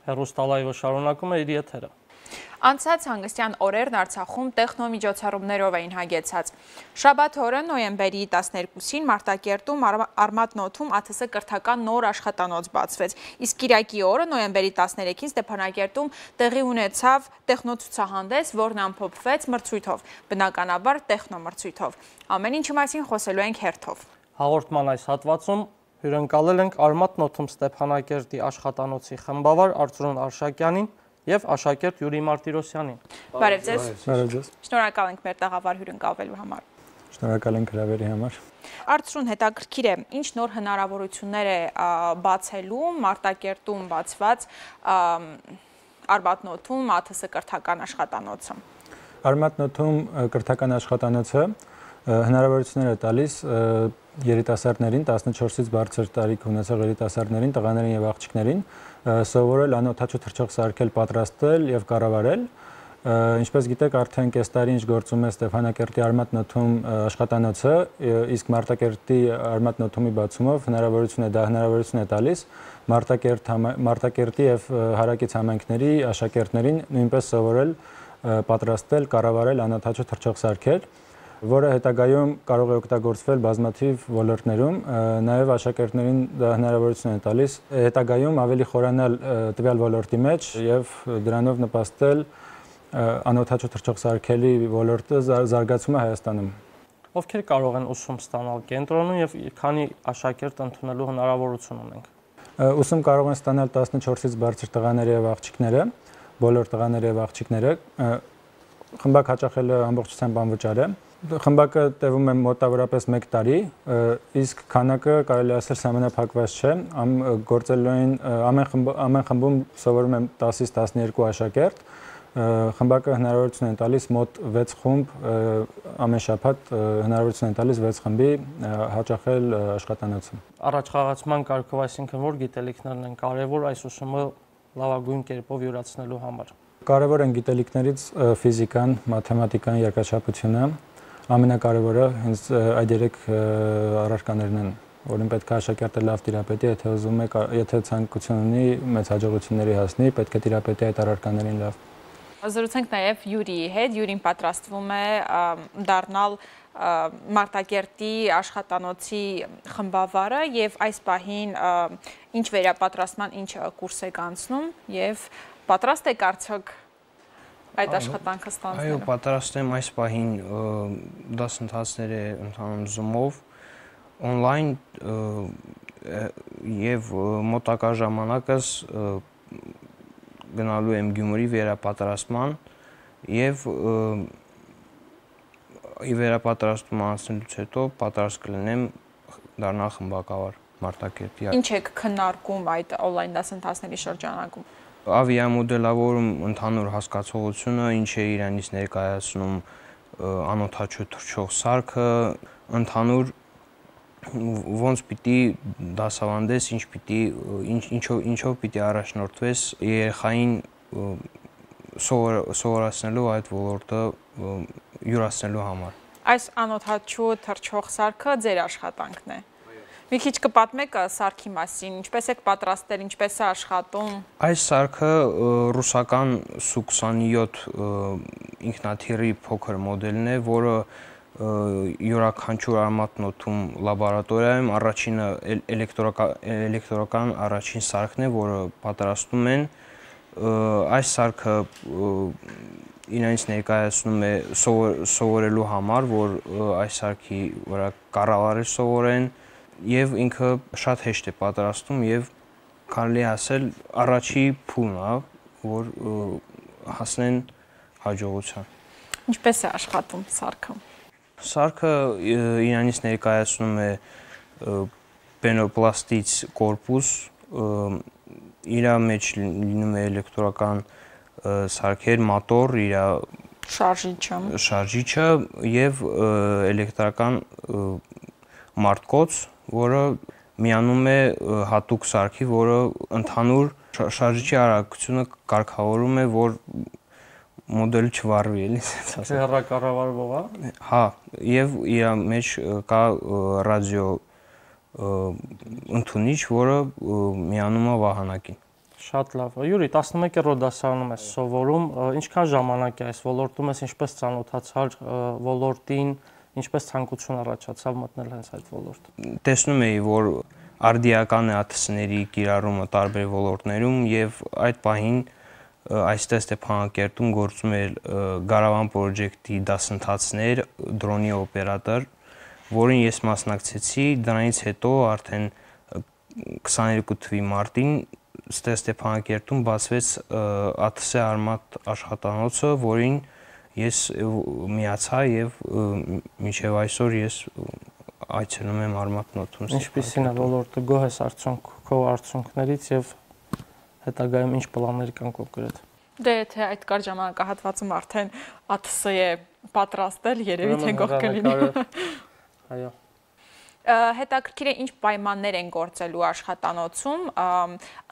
հեռուստալայվը շարունակում է իր եթերը։ Անցած հանգստյան օրերն Արցախում տեխնոմիջոցառումներով էին հագեցած։ Շաբաթ օրը նոյեմբերի 12-ին Մարտակերտում Արմատն օդում ԱԹՍ կրթական նոր աշխատանոց բացվեց։ Իսկ Կիրակի օրը նոյեմբերի 13-ին Ստեփանակերտում տեղի ունեցավ տեխնոցուցահանդես, որն ամփոփվեց մրցույթով, բնականաբար տեխնոմրցույթով։ Ամեն ինչի մասին խոսելու ենք հերթով։ Հաղորդման այս հատվածում հյուրընկալել ենք Արմատն օդում Ստեփանակերտի աշխատանոցի խմբավար Արծրուն Արշակյանին և աշակերտ Յուրի Մարտիրոսյանին։ Բարև ձեզ։ Բարև ձեզ։ Շնորհակալ ենք մեր տաղավար հյուրընկալվելու համար։ Շնորհակալ ենք հրավերի համար։ Արծրուն, հետաքրքիր է, ինչ նոր հնարավորություններ է բացելու Մարտակերտում բացված Արմատն օդում ԱԹՍ կրթական աշխատանոցը։ Արմատն օդում կրթական աշխատանոցը հնարավորություններ է տալիս երիտասարդներին, 14-ից բարձր տարիք ունեցող երիտասարդներին, տղաներին և աղջիկներին սովորել անօդաչու թռչող սարքել, պատրաստել և կառավարել։ Ինչպես գիտեք, արդեն կես տարի ինչ գործում է Ստեփանակերտի Արմատն օդում աշխատանոցը, իսկ Մարտակերտի Արմատն օդումի բացումով հնարավորություն է տալիս Մարտակերտի և հարակից համայնքների աշակերտներին նույնպես սովորել, պատրաստել, կառավարել անօդաչու թռչող սարքեր, որը հետագայում կարող է օգտագործվել բազմաթիվ ոլորտներում, նաև աշակերտներին դա հնարավորություն է տալիս հետագայում ավելի խորանալ տվյալ ոլորտի մեջ և դրանով նպաստել անօդաչու թռչող սարքերի ոլորտը զարգացումը Հայաստանում։ Ովքեր կարող են ուսում ստանալ կենտրոնում և քանի աշակերտ ընդունելու հնարավորություն ունենք։ Ուսում կարող են ստանալ 14-ից բարձր տղաները և աղջիկները, բոլոր տղաները և աղջիկները, խմբակ հաճախելը ամբողջությամբ անվճար է։ Խմբակը տևում է մոտավորապես 1 տարի, իսկ քանակը կարելի ասել սահմանափակված չէ, ամեն խմբում սովորում են 10-ից 12 աշակերտ, խմբակը հնարավորություն է տալիս մոտ 6 խումբ, ամեն շաբաթ հնարավորություն է տալիս 6 խմբի հաճախել աշխատանոցը։ Առաջխաղացման կարգով, այսինքն որ գիտելիքներն են կարևոր այս ուսումը լավագույն կերպով յուրացնելու համար։ Կարևոր են գիտելիքներից ֆիզիկան, մաթեմատիկան, երկրաչափությունը, ամենակարևորը հենց այդ 3 առարկաներն են, որին պետք է աշակերտը լավ տիրապետի, եթե ցանկություն ունի մեծ հաջողությունների հասնի, պետք է տիրապետի այդ առարկաներին լավ։ Զրուցենք նաև Յուրիի հետ, Յուրին պատրաստվում է դառնալ Մարտակերտի աշխատանոցի խմբավարը և այս պահին ինչ վերապատրաստման ինչ կուրս եք անցնում և պատրաստ եք արդյոք այդ աշխատանքը ստանձնելու։ Այո, պատրաստ եմ, այս պահին դասընթացներ է ընթանում Zoom-ով, on-line և մոտակա ժամանակս գնալու եմ Գյումրի վերապատրաստման և վերապատրաստումը անցնելուց հետո պատրաստ կլինեմ դառնալ խմբակավար Մարտակերտի։ Ինչ եք քննարկում այդ on-line դասընթացների շրջանակում։ Ավիամոդելավորում ընդհանուր հասկացողությունը, ինչ է իրանից ներկայացնում անօդաչու թռչող սարքը, ընդհանուր ոնց պիտի դասավանդես, ինչով պիտի առաջնորդվես երեխային սովորացնելու այդ ոլորտը յուրացնելու համար։ Այս անօդաչու թռչող սարքը ձեր աշխատանքն է։ Մի քիչ կպատմեք սարքի մասին, ինչպես եք պատրաստել, ինչպես է աշխատում։ Այս սարքը ռուսական Su-27 ինքնաթիռի փոքր մոդելն է, որը յուրաքանչյուր Արմատն օդում լաբորատորիայում առաջինը էլեկտրական առաջին սարքն է, որը պատրաստում են։ Այս սարքը իրանից ներկայացնում է սովորելու համար, որ այս սարքի վրա կառավարել սովորեն, և ինքը շատ հեշտ է պատրաստում և կարելի ասել առաջի փուլն է, որ հասնեն հաջողության։ Ինչպես է աշխատում սարքը։ Սարքը իրանից ներկայացնում է պենոպլաստից կորպուս, իր մեջ լինում է էլեկտրական սարքեր, մոտոր, իր շարժիչը և էլեկտրական մարտկոց, որը միանում է հատուկ սարքի, որը ընդհանուր շարժիչի արագությունը կարգավորում է, որ մոդելը չվառվի, էլի ասած։ Հեռակառավարվող է։ Հա, եւ իր մեջ կա ռադիո ընդունիչ, որը միանում է վահանակին։ Շատ լավ։ Յուրի, 11-րդ դասարանում ես սովորում, ինչքան ժամանակ է այս ոլորտում ես, ինչպես ծանոթացար ոլորտին, ինչպես ցանկություն առաջացավ մտնել հենց այդ ոլորտ։ Տեսնում էի, որ արդիական է ԱԹՍ-ների կիրառումը տարբեր ոլորտներում եւ այդ պահին այստեղ Ստեփանակերտում գործում էր Գարավան պրոջեկտի դասընթացներ, դրոնի օպերատոր, որին ես մասնակցեցի, դրանից հետո արդեն 22 թվականի մարտին Ստեփանակերտում բացվեց ԱԹՍ Արմատ աշխատանոցը, որին ես միացա եւ մինչեւ այսօր ես այցելում եմ Արմատ նոթում։ Ինչպիսին է ոլորտը, գոհ ես քո արդյունքներից եւ հետագայում ինչ պլաններ կան կոնկրետ։ Դե եթե այդ կար ժամանակահատվածում արդեն ԱԹՍ է պատրաստել, երևի թե գոհ կլինի։ Այո։ Հետաքրքիր է ինչ պայմաններ են գործելու աշխատանոցում,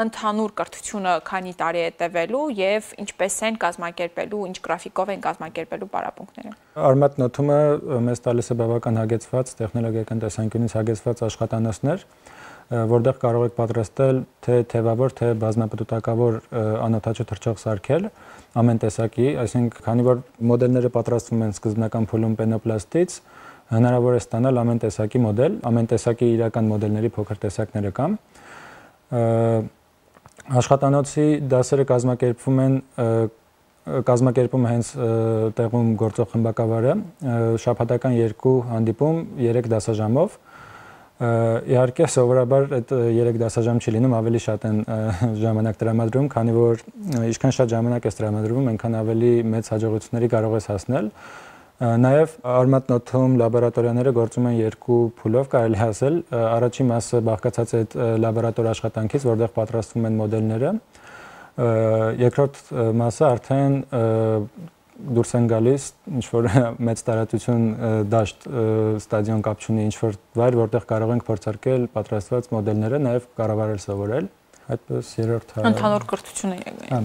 ընդհանուր կրթությունը քանի տարի է տևելու եւ ինչպես են կազմակերպելու, ինչ գրաֆիկով են կազմակերպելու պարապմունքները։ Արմատ նոթումը մեզ տալիս է բավական հագեցված, տեխնոլոգիական տեսանկյունից հագեցված աշխատանոցներ, որտեղ կարող եք պատրաստել թե թևավոր, թե բազմապտուտակավոր անօդաչու թռչող սարքեր ամեն տեսակի, այսինքն քանի որ մոդելները պատրաստվում են սկզբնական փուլում պենոպլաստից, հնարավոր է ստանալ ամեն տեսակի մոդել, ամեն տեսակի իրական մոդելների փոքր տեսակները կան։ Աշխատանոցի դասերը կազմակերպում հենց տեղում գործող խմբակավարը, շաբաթական 2 հանդիպում 3 դասաժամով։ Իհարկե սովորաբար այդ 3 դասաժամ չի լինում, ավելի շատ են ժամանակ տրամադրում, քանի որ ինչքան շատ ժամանակ ես տրամադրում, այնքան ավելի մեծ հաջողությունների կարող ես հասնել։ Նաև Արմատ նոթում լաբորատորիաները գործում են 2 փուլով, կարելի ասել։ Առաջին մասը բաղկացած է այդ լաբորատոր աշխատանքից, որտեղ պատրաստվում են մոդելները։ Երկրորդ մասը արդեն դուրս են գալիս ինչ-որ մեծ տարածություն դաշտ ստադիոն կապ չունի ինչ-որ վայր, որտեղ կարող ենք փորձարկել պատրաստված մոդելները, նաև կառավարել սովորել։ Այդպես երրորդ Ընդհանուր կրթությունը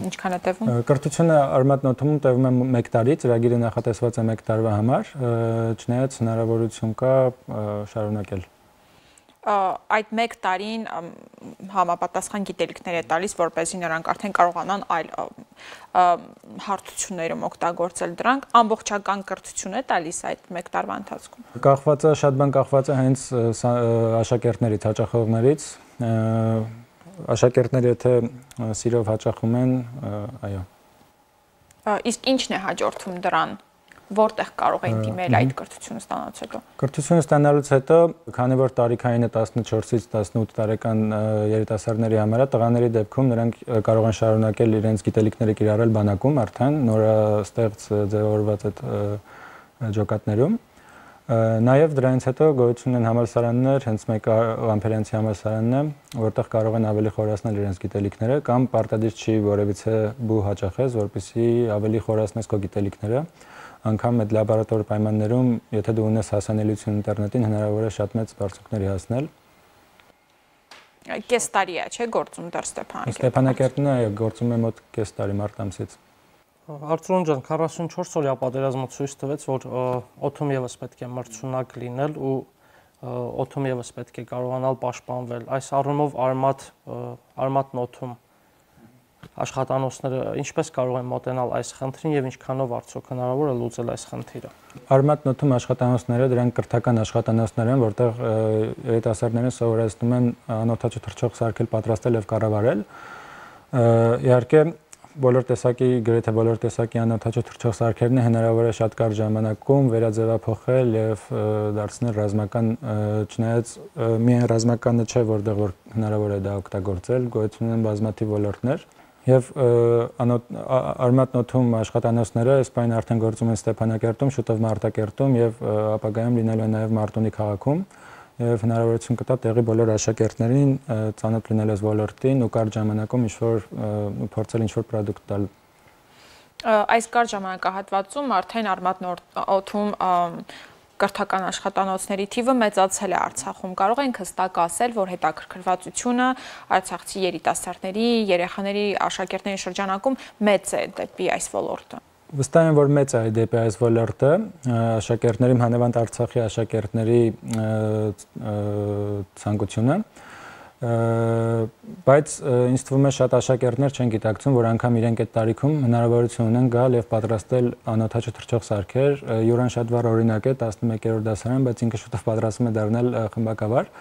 ինչքան է տևում։ Կրթությունը Արմատ նոթում տևում է 1 տարի, ծրագիրը նախատեսված է 1 տարվա համար, չնայած հնարավորություն կա շարունակել։ Այդ 1 տարին համապատասխան գիտելիքներ է տալիս, որպեսզի նրանք արդեն կարողանան այլ հարթություններում օգտագործել դրանք, ամբողջական կրթություն է տալիս այդ 1 տարվա ընթացքում։ Կախված է, շատ բան կախված է հենց աշակերտներից, հաճախողներից, աշակերտները եթե սիրով հաճախում են, այո։ Իսկ ինչն է հաջորդում դրան, որտեղ կարող են դիմել այդ կրթությունը ստանալուց հետո։ Կրթությունը ստանալուց հետո, քանի որ տարիքայինը 14-ից 18 տարեկան երիտասարդների համար է, տղաների դեպքում նրանք կարող են շարունակել իրենց գիտելիքները կիրառել բանակում արդեն նորաստեղծ ձևավորված այդ ջոկատներում։ Նաև դրանից հետո գոյություն են համալսարաններ, հենց մեկը Ղամփերյանցի համալսարանն է, որտեղ կարող են ավելի խորացնել իրենց գիտելիքները կամ պարտադիր չի որևիցե բու հաճախես, որպեսզի ավելի խորացնես քո գիտելիքները, անգամ այդ լաբորատոր պայմաններում, եթե դու ունես հասանելիություն ինտերնետին, հնարավոր է շատ մեծ բարձունքների հասնել։ Կես տարի է, չէ՞, գործում դեռ Ստեփանակերտում։ Ստեփանակերտն է գործում է մոտ կես տարի մարտ ամսից։ Արծրուն ջան, 44 օրյա պատերազմը ցույց տվեց, որ օդում եւս պետք է մրցունակ լինել ու օդում եւս պետք է կարողանալ պաշտպանվել։ Այս առումով Արմատ նոթում աշխատանոցները ինչպես կարող են մոտենալ այս խնդրին եւ ինչքանով արդյոք հնարավոր է լուծել այս խնդիրը։ Արմատ նոթում աշխատանոցները դրանք կրթական աշխատանոցներ են, որտեղ երիտասարդները սովորեցնում են անօդաչու թռչող սարքել, պատրաստել եւ կառավարել։ Իհարկե գրեթե բոլոր տեսակի անօդաչու թռչող սարքերն հնարավոր է շատ կարճ ժամանակում վերաձևափոխել եւ դարձնել ռազմական, չնայած միայն ռազմականը չէ, որտեղ որ հնարավոր է դա օգտագործել, գոյություն ունեն բազմաթիվ ոլորտներ եւ Արմատ նոթում աշխատանոցները այս պայն արդեն գործում են Ստեփանակերտում, շուտով Մարտակերտում եւ ապագայում լինելու են նաեւ Մարտունի քաղաքում եւ հնարավորություն կտա տեղի բոլոր աշակերտներին ծանոթ լինել այս ոլորտին ու կարճ ժամանակում ինչ-որ փորձել ինչ-որ պրոդուկտ տալ։ Այս կարճ ժամանակահատվածում արդեն Արմատ նոթում կրթական աշխատանոցների թիվը մեծացել է Արցախում։ Կարող ենք հստակ ասել, որ հետաքրքրվածությունը արցախցի երիտասարդների, երեխաների, աշակերտների շրջանակում մեծ է դեպի այս ոլորտը։ Վստահ եմ, որ մեծ է դեպի այս ոլորտը, աշակերտների, հանրավանդ Արցախի աշակերտների ցանկությունը Բայց ինձ թվում է շատ աշակերտներ չեն գիտակցում, որ անգամ իրենք այդ տարիքում հնարավորություն ունեն գալ եւ պատրաստել անօթաչու թռչող սարքեր։ Յուրան շատ վառ օրինակ է 11-րդ դասարան, բայց ինքը շուտով պատրաստվում է դառնալ խմբակավար։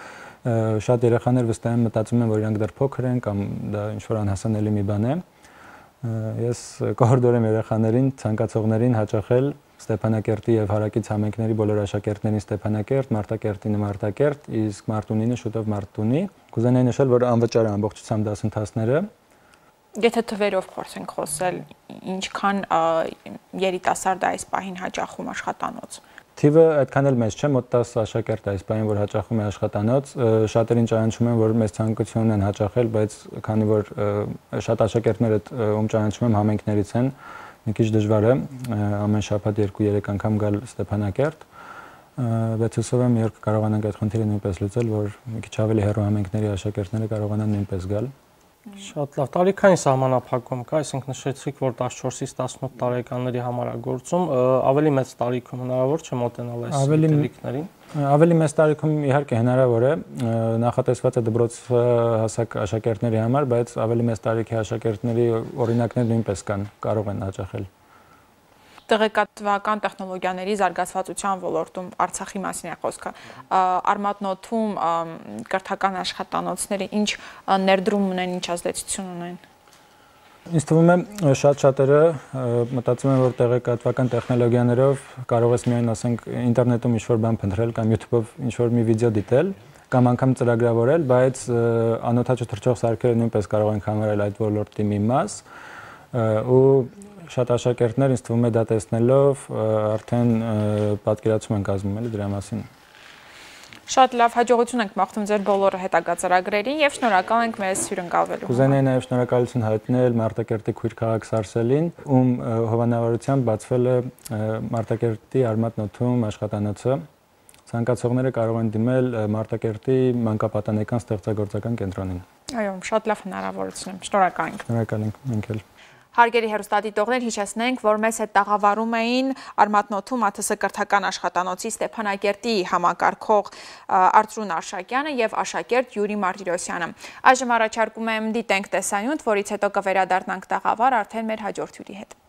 Շատ երեխաներ վստահ են մտածում են, որ իրանք դեռ փոքր են կամ դա ինչ-որ անհասանելի մի բան է։ Ես կհորդորեմ երեխաներին, ցանկացողներին հաճախել Ստեփանակերտի եւ Հարակից համայնքների բոլոր աշակերտներին Ստեփանակերտ, Մարտակերտին Մարտակերտ, իսկ Մարտունինը շուտով Մարտունի։ Կուզենայի նշել, որ անվճար է ամբողջությամբ դասընթացները։ Եթե թվերով փորձենք խոսել, ինչքան երիտասարդ է այս պահին հաճախում աշխատանոց։ Թիվը այդքան էլ մեծ չէ, մոտ 10 աշակերտ է այս պահին, որ հաճախում է աշխատանոց։ Շատերին ճանաչում են, որ մեծ ցանկություն են հաճախել, բայց քանի որ շատ աշակերտներ այդ ում ճանաչում եմ համայնքներից են, մի քիչ դժվար է ամեն շաբաթ 2-3 անգամ գալ Ստեփանակերտ, բայց հուսով եմ երբ կարողանանք այդ խնդիրը նույնպես լուծել, որ մի քիչ ավելի հեռու համայնքների աշակերտները կարողանան նույնպես գալ։ Շատ լավ, տարիքային սահմանափակում կա, այսինքն նշեցիք, որ 14-ից 18 տարեկանների համար է գործում, ավելի մեծ տարիքում հնարավոր չէ մոտենալ այս դեպքերին։ Ավելի մեծ տարիքում իհարկե հնարավոր է, նախատեսված է դպրոց հասակ աշակերտների համար, բայց ավելի մեծ տարիքի աշակերտների օրինակներ նույնպես կան, կարող են հաճախել։ Տեղեկատվական տեխնոլոգիաների զարգացվածության ոլորտում Արցախի մասին է խոսքը։ Արմատնոթում կրթական աշխատանոցները ինչ ներդրում ունեն, ինչ ազդեցություն ունեն։ Ինձ թվում է շատ-շատերը մտածում են, որ տեղեկատվական տեխնոլոգիաներով կարող ես միայն ասենք ինտերնետում ինչ-որ բան փնտրել կամ YouTube-ով ինչ-որ մի վիդեո դիտել կամ անգամ ծրագրավորել, բայց անօթաչու թռչող սարքերը նույնպես կարող են համարել այդ ոլորտի մի մաս ու շատ աշակերտներ ինձ թվում է դա տեսնելով արդեն պատկերացում են կազմում էլի դրա մասին։ Շատ լավ, հաջողություն ենք մաղթում ձեր բոլոր հետագա ծրագրերին եւ շնորհակալ ենք մեզ հյուրընկալվելու համար։ Կուզենայի նաեւ շնորհակալություն հայտնել Մարտակերտի քույր քաղաք Սարսելին, ում հովանավորությամբ բացվել է Մարտակերտի Արմատնոթում աշխատանոցը։ Ցանկացողները կարող են դիմել Մարտակերտի մանկապատանեկան ստեղծագործական կենտրոնին։ Այո, շատ լավ հնարավորություն եմ։ Շնորհակալ ենք։ Շնորհակալ ենք, մենք էլ։ Հարգելի հեռուստադիտողներ, հիշեցնենք, որ մեզ հետ տաղավարում էին Արմատնոթում ԱԹՍ կրթական աշխատանոցի Ստեփանակերտի համակարգող Արծրուն Արշակյանը եւ աշակերտ Յուրի Մարտիրոսյանը։ Այժմ առաջարկում եմ դիտենք տեսանյութ, որից հետո կվերադառնանք տաղավար արդեն մեր հաջորդ հյուրի հետ։